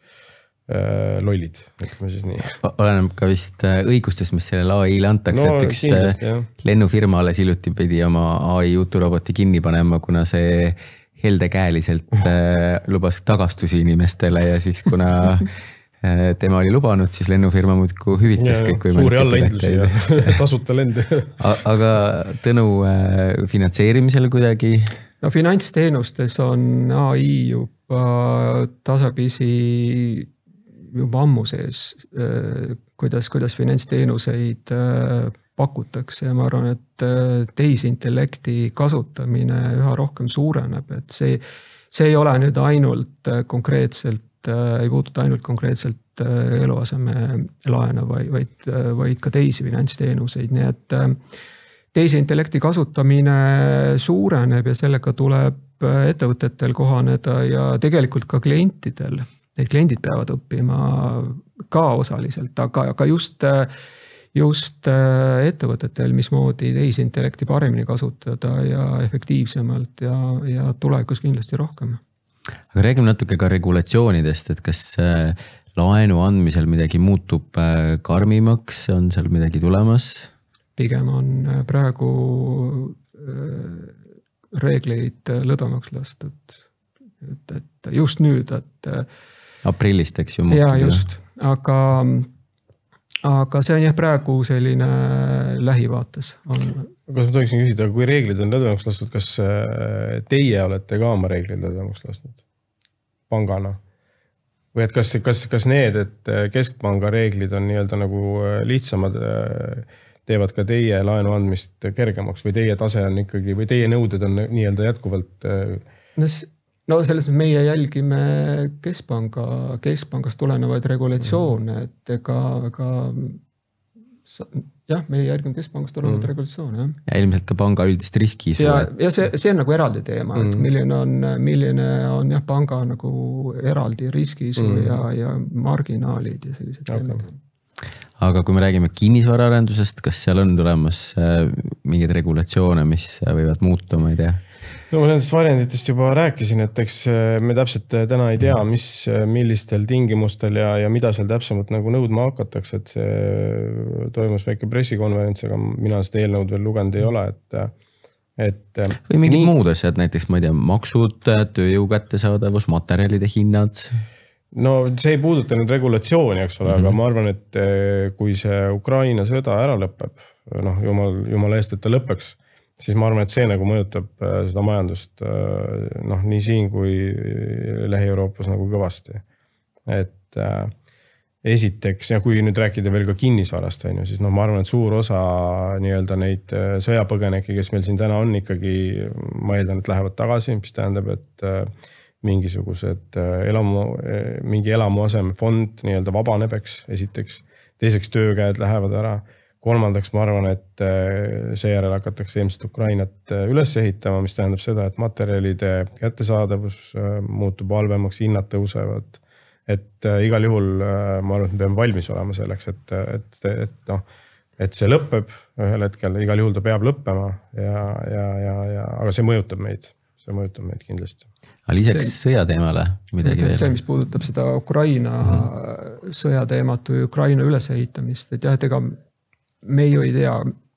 lollid, ütleme siis nii. Oleneb ka vist õigustest, mis sellele AI-le antakse, et üks lennufirma alles hiljuti pidi oma AI juturoboti kinni panema, kuna see heldekäeliselt lubas tagastusi inimestele ja siis kuna tema oli lubanud, siis lennufirma muudku hüvitas kõik suuri allahindlusi ja tasuta lende. Aga Tõnu, finantseerimisel kuidagi? No finantsteenustes on AI juba tasapisi juba ammu sees, kuidas finantsteenuseid pakutakse ja ma arvan, et tehisintellekti kasutamine üha rohkem suureneb, et see ei ole nüüd ainult konkreetselt, ei puuduta ainult konkreetselt eluaseme laene, vaid ka teisi finantsteenuseid, nii et tehisintellekti kasutamine suureneb ja sellega tuleb ettevõtetel kohaneda ja tegelikult ka klientidel. Need kliendid peavad õppima ka osaliselt, aga just ettevõtetel, mismoodi tehisintellekti paremini kasutada ja efektiivsemalt ja tulevikus kindlasti rohkem. Aga räägime natuke ka regulatsioonidest, et kas laenu andmisel midagi muutub karmimaks, on seal midagi tulemas? Pigem on praegu reegleid lõdvemaks lastud, et just nüüd, et aprillist, eks ju. Ja just, aga see on jah praegu selline lähivaates. Kas ma tohiksin küsida, kui reeglid on lõdvemaks lastud, kas teie olete ka oma reeglid lõdvemaks lastud pangana? Või et kas need, et keskpanga reeglid on nii-öelda nagu lihtsamad, teevad ka teie laenu andmist kergemaks või teie tase on ikkagi, või teie nõuded on nii-öelda jätkuvalt? No selles meie jälgime keskpangast tulenevaid regulatsioone, et jah, meie jälgime keskpangast tulenevaid regulatsioone. Ja ilmselt ka panga üldist riskiisu. Ja see on nagu eraldi teema, et milline on jah, panga nagu eraldi riskiisu ja marginaalid ja sellised teemad. Aga kui me räägime kinnisvaraarendusest, kas seal on tulemas mingeid regulatsioone, mis võivad muuta, ma ei tea? No ma nendest varianditest juba rääkisin, et eks me täpselt täna ei tea, millistel tingimustel ja mida seal täpsemalt nagu nõudma hakatakse, et see toimus väike pressikonverents, aga mina seda eelnõud veel lugenud ei ole, et või mingid muud asjad, näiteks ma ei tea, maksud, tööjõu kättesaadavus, materjalide hinnad. No see ei puuduta nüüd regulatsiooni, eks ole, aga ma arvan, et kui see Ukraina sõda ära lõpeb, noh, jumala eest, et ta lõpeks, siis ma arvan, et see nagu mõjutab seda majandust noh, nii siin kui Lähi-Euroopas nagu kõvasti. Et esiteks, ja kui nüüd rääkida veel ka kinnisvarast, siis no ma arvan, et suur osa nii-öelda neid sõjapõgeneke, kes meil siin täna on ikkagi, ma eeldan, et lähevad tagasi, mis tähendab, et mingisugused mingi elamuasemefond nii-öelda vabaneb, esiteks. Teiseks töökäed lähevad ära. Kolmandaks ma arvan, et seejärel hakatakse ilmselt Ukrainat üles ehitama, mis tähendab seda, et materjalide kättesaadavus muutub halvemaks, hinnad tõusevad. Et igal juhul ma arvan, et me peame valmis olema selleks, et see lõpeb ühel hetkel, igal juhul ta peab lõppema, aga see mõjutab meid kindlasti. Lisaks sõjateemale midagi veel? See, mis puudutab seda Ukraina sõjateemat või Ukraina ülesehitamist, et jah, et ega me ju ei tea,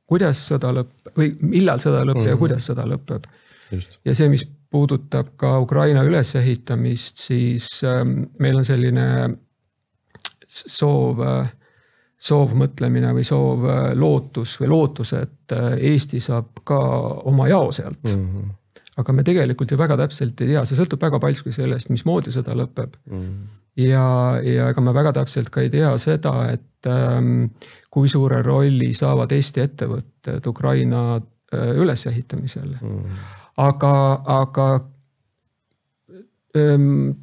kuidas sõda lõpeb või millal sõda lõpeb ja kuidas sõda lõpeb. Just. Ja see, mis puudutab ka Ukraina ülesehitamist, siis meil on selline soov mõtlemine või soov lootus, et Eesti saab ka oma jao sealt. Aga me tegelikult ju väga täpselt ei tea, see sõltub väga palju sellest, mismoodi sõda lõpeb. Ja ega me väga täpselt ka ei tea seda, et kui suure rolli saavad Eesti ettevõtted Ukraina ülesehitamisel. Aga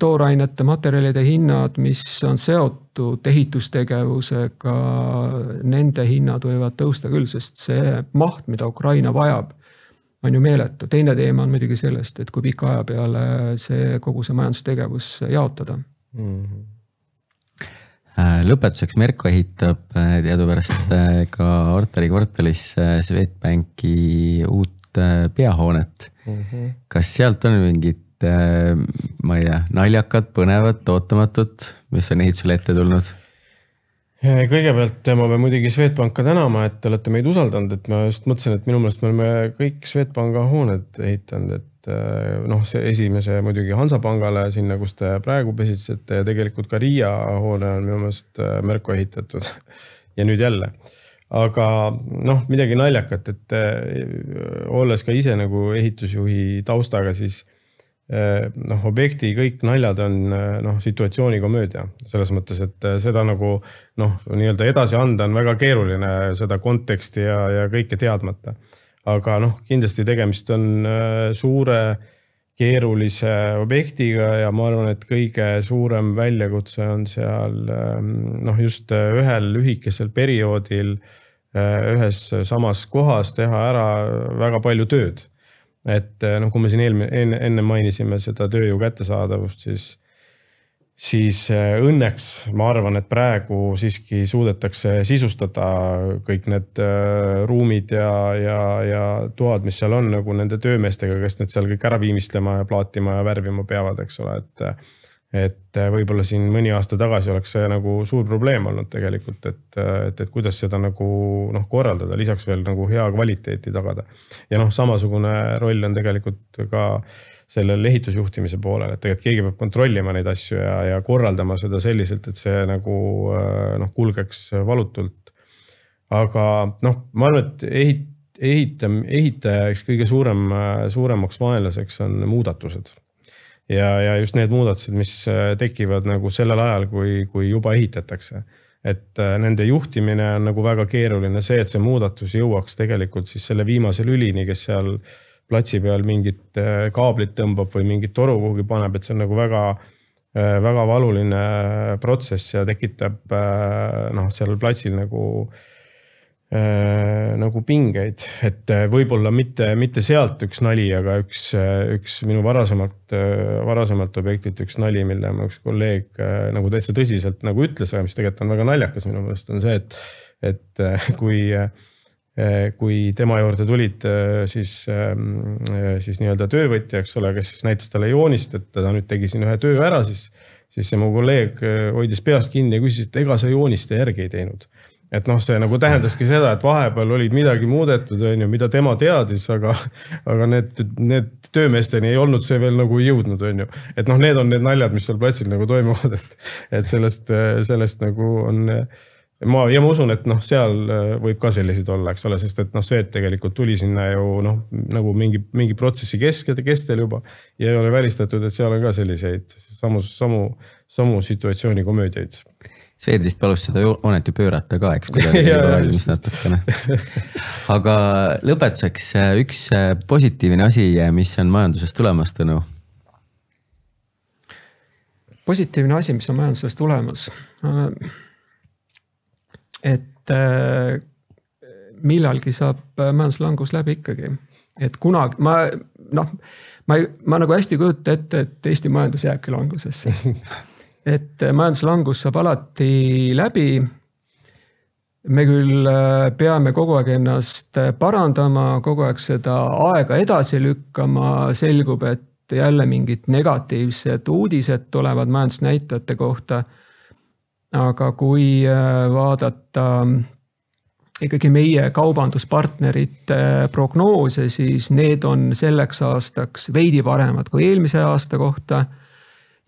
toorainete materjalide hinnad, mis on seotud ehitustegevusega, nende hinnad võivad tõusta küll, sest see maht, mida Ukraina vajab, on ju meeletu. Teine teema on muidugi sellest, et kui pika aja peale kogu see majandustegevus jaotada. Lõpetuseks Merko ehitab teadupärast ka Artari kvartalis Swedbanki uut peahoonet. Kas sealt on mingid, ma ei tea, naljakad, põnevad, ootamatut, mis on ehitusele ette tulnud? Kõigepealt ma pean muidugi Swedbanka tänama, et te olete meid usaldanud, et ma just mõtlesin, et minu meelest me oleme kõik Swedbanka hooned ehitanud, et noh, see esimese muidugi Hansapangale sinna, kus te praegu pesitsete ja tegelikult ka Riia hoone on minu meelest Merko ehitatud ja nüüd jälle. Aga noh, midagi naljakat, et olles ka ise nagu ehitusjuhi taustaga, siis noh, objekti kõik naljad on noh, situatsioonikomöödia. Selles mõttes, et seda nagu noh, nii-öelda edasi anda on väga keeruline seda konteksti ja kõike teadmata. Aga noh, kindlasti tegemist on suure keerulise objektiga ja ma arvan, et kõige suurem väljakutse on seal noh, just ühel lühikesel perioodil ühes samas kohas teha ära väga palju tööd. Et noh, kui me siin enne mainisime seda tööjõu kättesaadavust, siis õnneks ma arvan, et praegu siiski suudetakse sisustada kõik need ruumid ja toad, mis seal on nagu nende töömeestega, kes need seal kõik ära viimistlema ja plaatima ja värvima peavad, eks ole, et võib-olla siin mõni aasta tagasi oleks see nagu suur probleem olnud tegelikult, et kuidas seda nagu noh, korraldada, lisaks veel nagu hea kvaliteeti tagada. Ja noh, samasugune roll on tegelikult ka sellel ehitusjuhtimise poolel, et tegelikult keegi peab kontrollima neid asju ja korraldama seda selliselt, et see nagu noh, kulgeks valutult. Aga noh, ma arvan, et ehitajaks kõige suuremaks vaenlaseks on muudatused. Ja just need muudatused, mis tekivad nagu sellel ajal, kui juba ehitatakse. Et nende juhtimine on nagu väga keeruline see, et see muudatus jõuaks tegelikult siis selle viimase lülini, kes seal platsi peal mingit kaablit tõmbab või mingit toru kuhugi paneb, et see on nagu väga valuline protsess ja tekitab noh, seal platsil nagu pingeid, et võib-olla mitte sealt üks nali, aga üks minu varasemalt objektilt üks nali, mille ma üks kolleeg nagu täitsa tõsiselt nagu ütles, aga mis tegelikult on väga naljakas minu meelest on see, et kui tema juurde tulid siis nii-öelda töövõtja, eks ole, kes näitas talle joonist, et ta nüüd tegi siin ühe töö ära, siis see mu kolleeg hoidis peast kinni ja küsis, et ega sa joonist järgi ei teinud. Et noh, see nagu tähendaski seda, et vahepeal olid midagi muudetud, mida tema teadis, aga need töömeesteni ei olnud see veel nagu jõudnud. Et noh, need on need naljad, mis seal platsil nagu toimuvad, et sellest nagu on, ma usun, et noh, seal võib ka selliseid olla, eks ole, sest et noh, Svet tegelikult tuli sinna ju noh, nagu mingi protsessi kestel juba ja ei ole välistatud, et seal on ka selliseid samu situatsiooni komöödiaid. Svet vist palus seda hoonet ju pöörata ka, eks, kui ta oli valmis natukene. Aga lõpetuseks üks positiivne asi, mis on majandusest tulemas, Tõnu? Positiivne asi, mis on majandusest tulemas. Et millalgi saab majanduslangus läbi ikkagi. Et kunagi, ma nagu hästi kujuta ette, et Eesti majandus jääbki langusesse. Et majanduslangus saab alati läbi. Me küll peame kogu aeg ennast parandama, kogu aeg seda aega edasi lükkama, selgub, et jälle mingid negatiivsed uudised tulevad majandusnäitajate kohta. Aga kui vaadata ikkagi meie kaubanduspartnerite prognoose, siis need on selleks aastaks veidi paremad kui eelmise aasta kohta.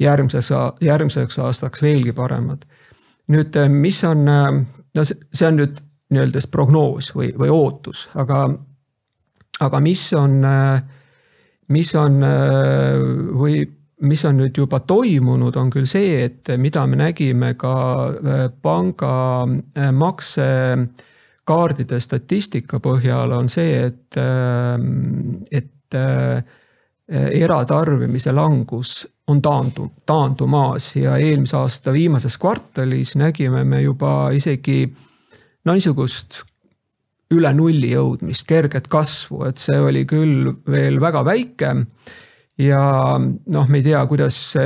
Järgmiseks aastaks veelgi paremad. Nüüd, mis on, no see on nüüd nii-öelda prognoos või ootus, aga mis on nüüd juba toimunud, on küll see, et mida me nägime ka panga maksekaardide statistika põhjal, on see, et eratarbimise langus on taandumaas ja eelmise aasta viimases kvartalis nägime me juba isegi niisugust üle nulli jõudmist, kerget kasvu, et see oli küll veel väga väike ja noh, me ei tea, kuidas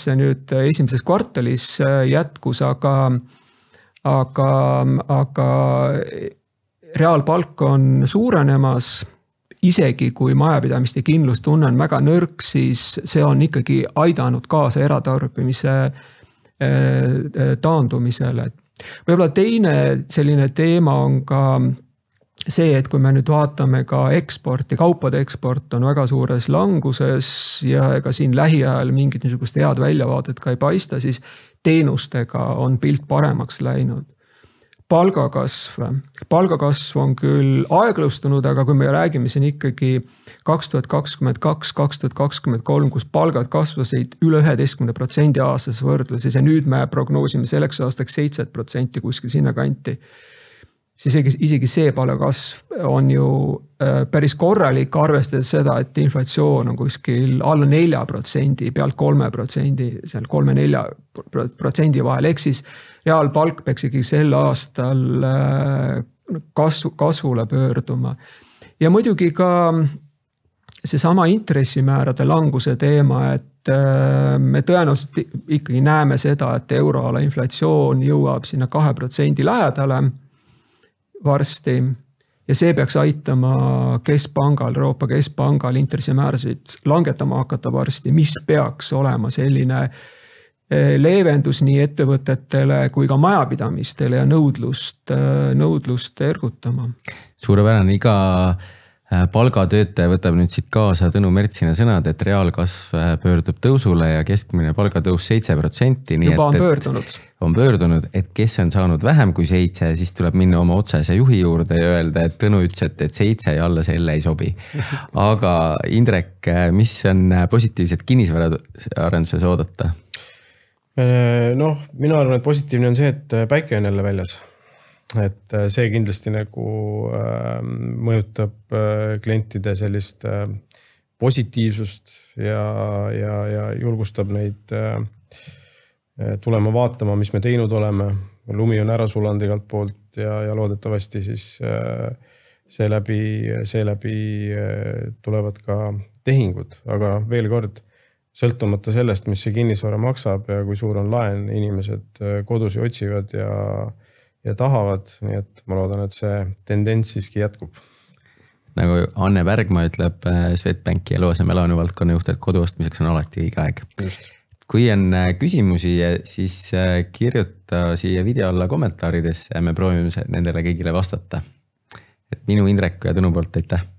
see nüüd esimeses kvartalis jätkus, aga reaalpalk on suurenemas. Isegi kui majapidamiste kindlustunne on väga nõrk, siis see on ikkagi aidanud kaasa eratarbimise taandumisele. Võib-olla teine selline teema on ka see, et kui me nüüd vaatame ka eksporti, kaupade eksport on väga suures languses ja ega siin lähiajal mingit niisugust head väljavaadet ka ei paista, siis teenustega on pilt paremaks läinud. Palgakasv on küll aeglustunud, aga kui me räägime siin ikkagi 2022, 2023, kus palgad kasvasid üle 11% aastas võrdluses ja nüüd me prognoosime selleks aastaks 7% kuskil sinna kanti, siis isegi see palgakasv on ju päris korralik, arvestades seda, et inflatsioon on kuskil alla 4%, pealt 3%, seal 3-4% vahel, ehk siis reaalpalk peaks ikkagi sel aastal kasvule pöörduma. Ja muidugi ka seesama intressimäärade languse teema, et me tõenäoliselt ikkagi näeme seda, et euroala inflatsioon jõuab sinna 2% lähedale varsti ja see peaks aitama keskpangal, Euroopa Keskpangal intressimäärasid langetama hakata varsti, mis peaks olema selline leevendus nii ettevõtetele kui ka majapidamistele ja nõudlust ergutama. Suurepärane, iga palgatöötaja võtab nüüd siit kaasa Tõnu Mertsina sõnad, et reaalkasv pöördub tõusule ja keskmine palgatõus 7%. Juba on pöördunud. On pöördunud, et kes on saanud vähem kui 7, siis tuleb minna oma otsese juhi juurde ja öelda, et Tõnu ütles, et 7 ja alla selle ei sobi. Aga Indrek, mis on positiivset kinnisvaraarenduses oodata? Mina arvan, et positiivne on see, et päike on jälle väljas. Et see kindlasti nagu mõjutab klientide sellist positiivsust ja julgustab neid tulema vaatama, mis me teinud oleme. Lumi on ära sulanud igalt poolt ja loodetavasti siis seeläbi tulevad ka tehingud, aga veel kord, sõltumata sellest, mis see kinnisvara maksab ja kui suur on laen, inimesed kodusi otsivad ja tahavad, nii et ma loodan, et see tendents siiski jätkub. Nagu Anne Bergma ütleb Swedbanki eluasemelaenu valdkonna juht, et kodu ostmiseks on alati õige aeg. Just. Kui on küsimusi, siis kirjuta siia video alla kommentaaridesse ja me proovime nendele kõigile vastata. Et minu Indrek ja Tõnu poolt aitäh!